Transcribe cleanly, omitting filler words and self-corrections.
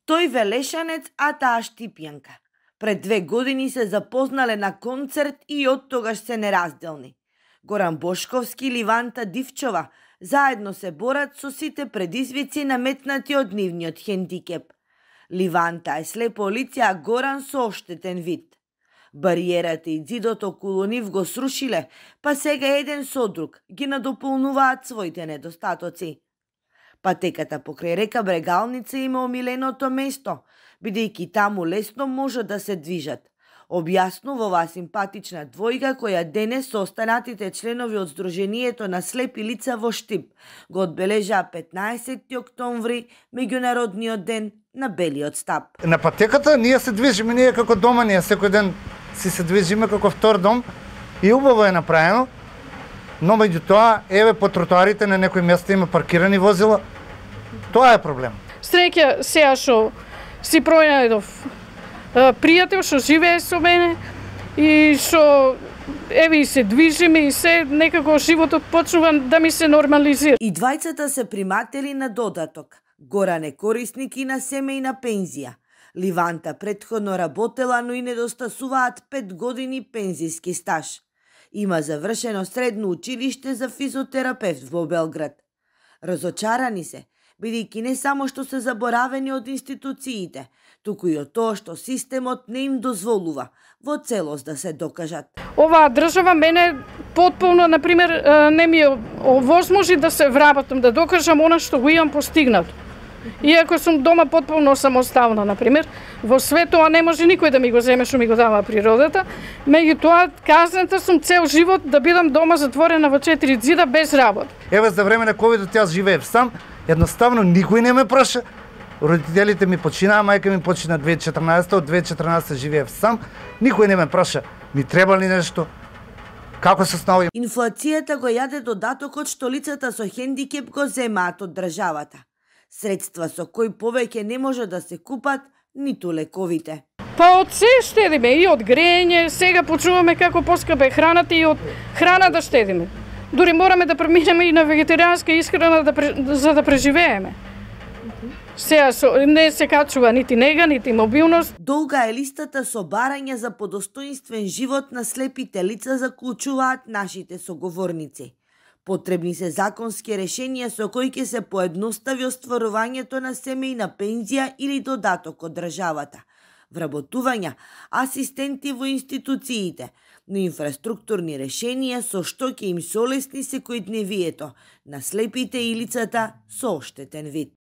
Тој Велешанец, а таа Штипјанка. Пред 2 години се запознале на концерт и од тогаш се неразделни. Горан Бошковски и Ливанта Дивчова заедно се борат со сите предизвици наметнати од нивниот хендикеп. Ливанта е слепо лице, а Горан со оштетен вид. Бариерата и ѕидот околу нив го срушиле, па сега еден со друг ги надополнуваат своите недостатоци. Патеката покрај река Брегалница има омиленото место, бидејќи таму лесно може да се движат. Објаснува оваа симпатична двојка која денес со останатите членови од Сдруженијето на слепи лица во Штип го одбележа 15 октомври, меѓународниот ден на белиот стап. На патеката ние се движиме, ние како дома, ние секој ден си се движиме како втор дом и убаво е направено, но меѓу тоа, еве по тротоарите на некои места има паркирани возила. Тоа е проблем. Среќа сега што си пронајдов пријател што живее со мене и што еве и се движиме и се некако животот почнува да ми се нормализира. И двајцата се приматели на додаток. Горан е корисник и на семејна пензија. Ливанта претходно работела, но и недостасуваат 5 години пензиски стаж. Има завршено средно училиште за физиотерапевт во Белград. Разочарани се, бидејќи не само што се заборавени од институциите, туку и од тоа што системот не им дозволува во целост да се докажат. Оваа држава мене потполно, например, не ми овозможи да се вработам, да докажам она што го имам постигнато. Иако сум дома потполно самоставна, например, во светот не може никој да ми го земе што ми го дава природата, меѓутоа казната сум цел живот да бидам дома затворена во 4 ѕида без работа. Еве за време на ковидот јас живеев сам, едноставно никој не ме праша. Родителите ми починаа, мајка ми почина 2014, од 2014 живеев сам, никој не ме праша. Ми треба ли нешто? Како се снаоѓам? Инфлацијата го јаде додатокот што лицата со хендикеп го земаат од државата. Средства со кои повеќе не може да се купат ниту лековите. Па од се штедиме, и од грејење, сега почуваме како поскапа е храната и од храна да штедиме. Дури мораме да преминеме и на вегетаријанска исхрана за да преживееме. Сега не се качува нити нега, нити мобилност. Долга е листата со барања за подостоинствен живот на слепите лица, заклучуваат нашите соговорници. Потребни се законски решенија со кои ќе се поедностави остварувањето на семејна пензија или додаток од државата, вработувања, асистенти во институциите, но инфраструктурни решенија со што ќе им се олесни секојдневието на слепите и лицата со оштетен вид.